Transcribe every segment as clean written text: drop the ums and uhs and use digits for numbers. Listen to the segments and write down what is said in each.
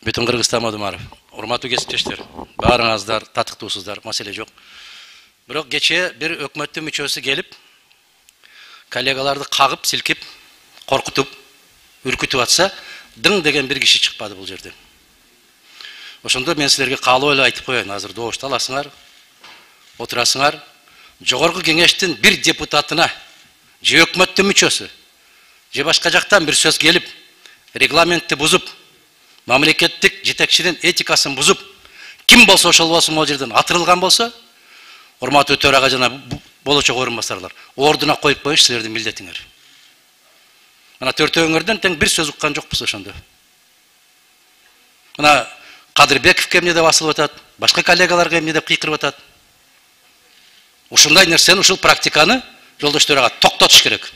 Бүтүн Кыргызстан Мадумаров. Урматтуу кесиптештер, баарыңыздар татыктуусуздар, маселе жок. Бирок кечээ бир өкмөттүн мүчөсү келип, коллегаларды кагып, силкип, коркутуп, үркүтүп атса, дың деген бир киши чыкпады бул жерде. Ошондо мен силерге каалоо эле айтып коеюн, азыр добушту аласыңар, отурасыңар. Жогорку кеңештин бир депутатына, же өкмөттүн мүчөсү, же башка жактан бир сөз келип, регламентти бузуп, мамлекеттик жетекчинин этикасын бузуп, ким болсо ошол болсун могул жерден атырылган болсо, урматтуу төрага жана болочок орун басарлар, ордуна коюп коюш силердин милдетиңер. Мына төртөөңөрдөн тең бир сөз уккан жокпуз ошондо. Мына Кадырбековке эмне деп асылып атат, башка коллегаларга эмне деп кыйкырып атат. Ушундай нерсени, ушул практиканы жолдош төрага токтотуш керек.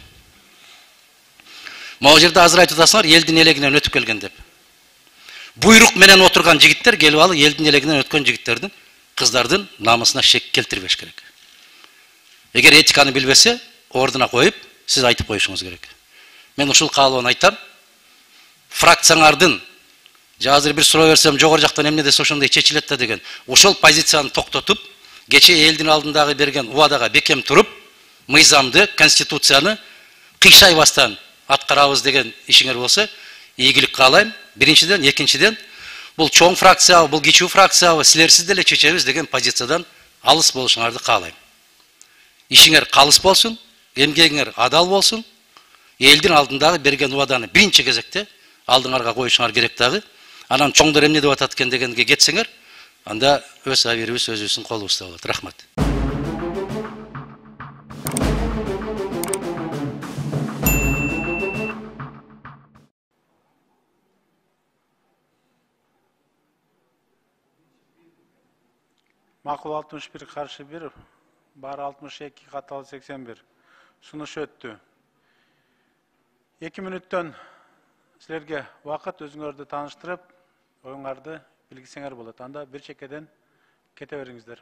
Могул жерде азыр айтып атасыңар, элдин элегинен өтүп келген деп. Буйрук менен отурган жигиттер келип алып элдин элегинен өткөн жигиттердин, кыздардын намысына шек келтирбеш керек. Эгер этиканы билбесе, ордуна коюп, сиз айтып коюшуңуз керек. Мен ушул каалоону айтам. Фракцияңардын, же азыр бир суроо берсем, жогору жактан эмне десе ошондой чечилет да деген, ошол позицияны токтотуп, кечээ элдин алдындагы берген убадага бекем туруп, мыйзамды, конституцияны кыйшайбастан аткарабыз деген ишиңер болсо, ийгилик каалайм. Биринчиден, экинчиден, бул чоң фракциябы, бул кичүү фракциябы, силерсиз деле чечебиз деген позициядан алыс болушуңарды каалайм. Ишиңер калыс болсун, эмгегиңер адал болсун, элдин алдындагы берген убаданы биринчи кезекте алдыңарга коюшуңар керек дагы. Анан чоңдор эмне деп атат экен дегенге кетсеңер, анда өз абийирибиз өзүбүздүн колубузда болот. Рахмат. Макул 61 каршы 1, бары 62 каталы 81. Сунуш өттү. 2 мүнөттөн силерге вакыт өзүңөрдү тааныштырып, оюңарды билгисеңер болот. Анда бир чекеден кете бериңиздер.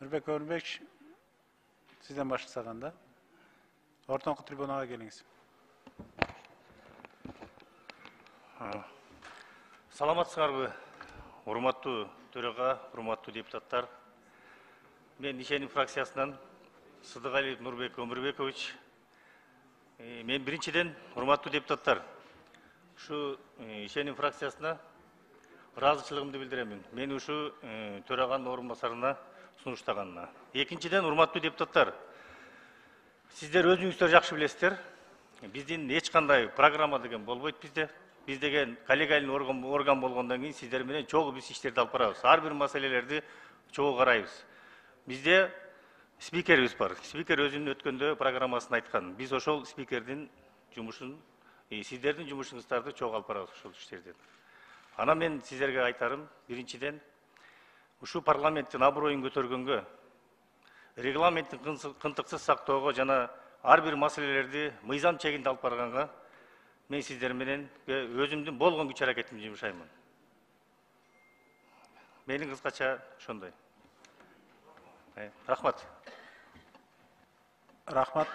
Нурбек Өмүрбек, сизден баштасак анда. Ортоңку трибунага келиңиз. Саламатсыңарбы, урматтуу төрага, урматтуу депутаттар. Мен Ишеним фракциясынан Сыдыгалиев Нурбек Өмүрбекович. Мен биринчиден, урматтуу депутаттар, ушу Ишеним фракциясына ыраазычылыгымды билдирем. Мени ушу төраганын орун басарына сунуштаганына. Экинчиден, урматтуу депутаттар, сиздер өзүңүздөр жакшы билесиздер. Биздин эч кандай программа деген болбойт бизде. Биз деген коллегиальный орган болгондон кийин сиздер менен чогуу биз иштерди алып барабыз. Ар бир маселелерди чогуу карайбыз. Бизде спикерибиз бар. Спикер өзүнүн өткөндө программасын айткан. Биз ошол спикердин жумушун, сиздердин жумушуңуздарды чогуу алып барабыз ошол иштерден. Анан мен сиздерге айтарым, биринчиден, ушу парламенттин аброюн көтөргөнгө, регламенттин кынтыксыз сактоого жана ар бир маселелерди мыйзам чегинде алып барганга мен сиздер менен өзүмдүн болгон күч аракетимди жумшаймын. Менин кыскача ошондой. Рахмат. Рахмат.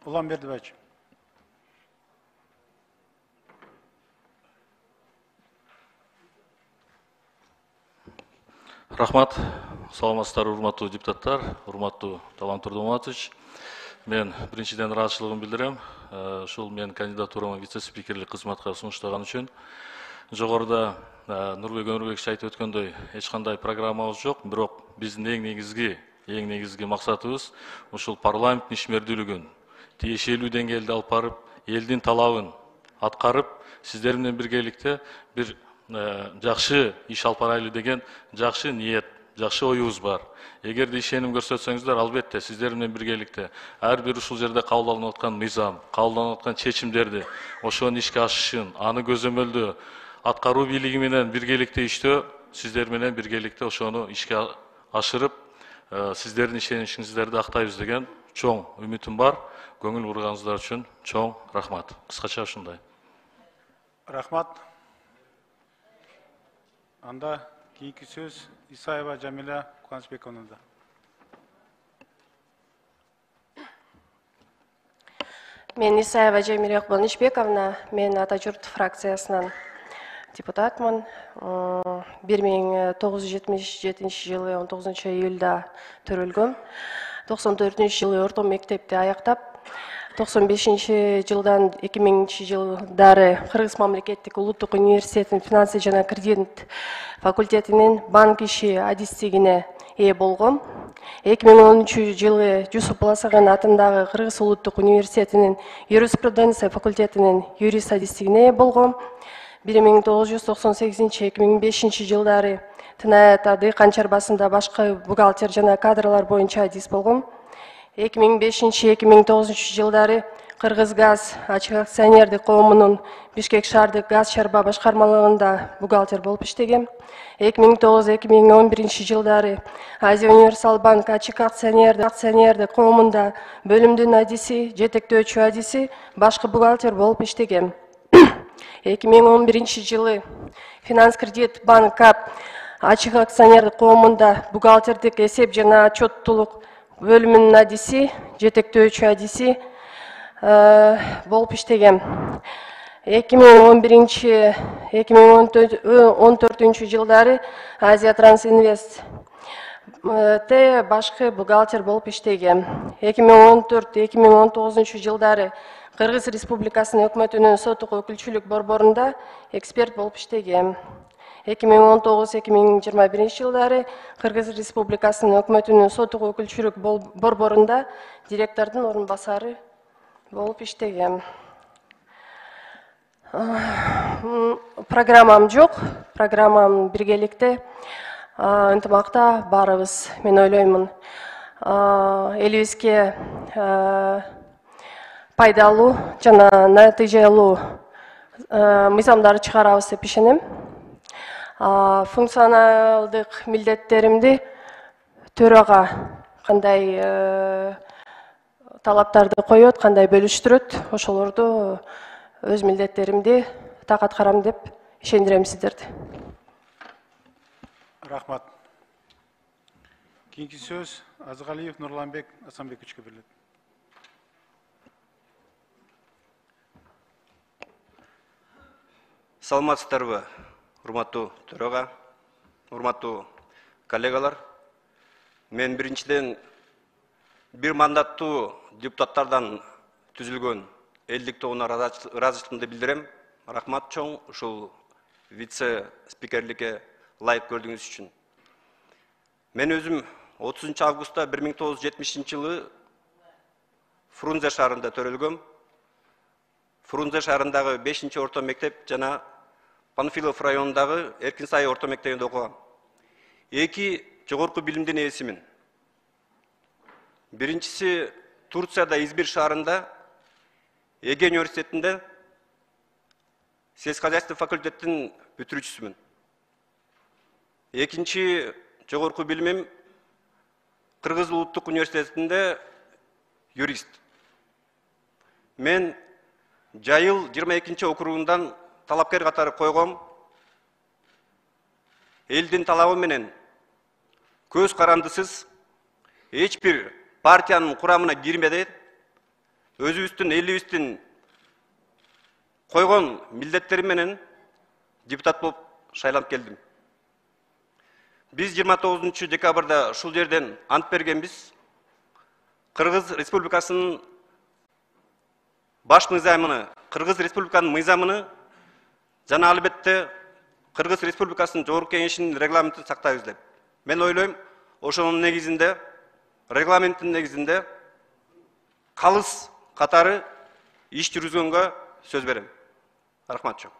Уланбердиевич. Рахмат. Саламатсыздар, урматтуу депутаттар, урматтуу Талант Турдуматович. Мен биринчиден ыраазычылыгымды билдирем. Ушул мен кандидатурама вице-спикерлик кызматка сунуштаган үчүн. Жогоруда Нурбек Өмүрбекович айтып өткөндөй эч кандай программабыз жок, бирок биздин эң негизги максатыбыз ушул парламенттин ишмердүүлүгүн тиешелүү деңгээлде алып барып, элдин талабын аткарып, сиздер менен биргеликте бир жакшы иш алып барайлы деген жакшы ниет, жакшы оюбуз бар. Эгерде ишеним көрсөтсөңүздөр, албетте сиздер менен биргеликте ар бир ушул жерде кабыл алынып аткан мыйзам, кабыл алынып аткан чечимдерди, ошонун ишке ашышын, аны көзөмөлдөө, аткаруу бийлиги менен биргеликте иштөө, сиздер менен биргеликте ошону ишке ашырып, сиздердин ишеничиңиздерди актайбыз деген чоң үмүтүм бар. Көңүл бурганыңыздар үчүн чоң рахмат. Кыскача ушундай. Рахмат. Анда кийинки сөз Исаева Жамиля Кубанычбековнада. Мен Исаева Жамиля Кубанычбековна, мен Ата журт фракциясынан депутатмын. 1977 жылы 19 июлда төрөлгөм. 94 жылы орто мектепти аяктап, 95 жылдан 2000 жылдары Кыргыз мамлекеттик улуттук университетинин финансы жана кредит факультетинин банк иши адистигине ээ болгом. 2013 жылы Жусуп Баласаган атындагы Кыргыз улуттук университетинин юриспруденция факультетинин юрист адистигине ээ болгом. 1998-2005 жылдары Тынаят Дыйкан чарбасында башкы бухгалтер жана кадрлар боюнча адис болгом. 2005-2009 жылдары Кыргыз газ ачык акционердик коомунун Бишкек шаардык газ чарба башкармалыгында бухгалтер болуп иштегем. 2009-2011 жылдары Азия Универсал банк ачык акционердик коомунда бөлүмдүн адиси, жетектөөчү адиси, башкы бухгалтер болуп иштегем. 2011 жылы Финанс кредит банк КАП ачык акционердик коомунда бухгалтердик эсеп жана отчеттуулук бөлүмүнүн адиси, жетектөөчү адиси болуп иштегем. 2011-2014 жылдары Азия Трансинвест башкы бухгалтер болуп иштегем. 2014-2019 жылдары Кыргыз Республикасынын өкмөтүнүн соттук өкүлчүлүк борборунда эксперт болуп иштегем. 2019-2021 жылдары Кыргыз Республикасынын өкмөтүнүн соттук өкүлчүлүк борборунда директордун орун басары болуп иштегем. Программам жок, программам биргеликте, ынтымакта барыбыз, мен ойлоймун. Элибизге пайдалуу жана натыйжалуу мыйзамдар чыгарабыз деп ишенем. Функционалдык милдеттеримди төрага кандай талаптарды коет, кандай бөлүштүрөт, ошолорду өз милдеттеримди так аткарам деп ишендирем сиздерди. Рахмат. Кийинки сөз Азгалиев Нурланбек Асанбековичке берилет. Саламатсыздарбы, урматтуу төрага, урматтуу коллегалар. Мен биринчиден бир мандаттуу депутаттардан түзүлгөн элдик тобуна ыраазычылыгымды билдирем. Рахмат чоң ушул вице-спикерликке ылайык көрдүңүз үчүн. Мен өзүм 30 августта 1970 жылы Фрунзе шаарында төрөлгөм. Фрунзе шаарындагы 5-орто мектеп жана Панфилов районундагы Эркинсай орто мектебинде окугам. Эки жогорку билимдин ээсимин. Биринчиси Турцияда Измир шаарында Эге университетинде сельскохозяйство факультетинин бүтүрүүчүсүмүн. Экинчи жогорку билимим Кыргыз улуттук университетинде юрист. Мен Жайыл 22-округундан талапкер катары койгом. Элдин талабы менен көз карандысыз эч бир партиянын курамына кирмеди. Өзүбүздүн элибиздин койгон милдеттери менен депутат болуп шайланып келдим. Биз 29 декабрда ушул жерден ант бергенбиз. Кыргыз Республикасынын баш мыйзамыны, Кыргыз Республиканын мыйзамыны жана албетте Кыргыз Республикасынын Жогорку Кеңешинин регламентин сактайбыз деп. Мен ойлойм, ошонун негизинде, регламенттин негизинде калыс катары иш жүргүзгөнгө сөз берем. Рахмат чоң.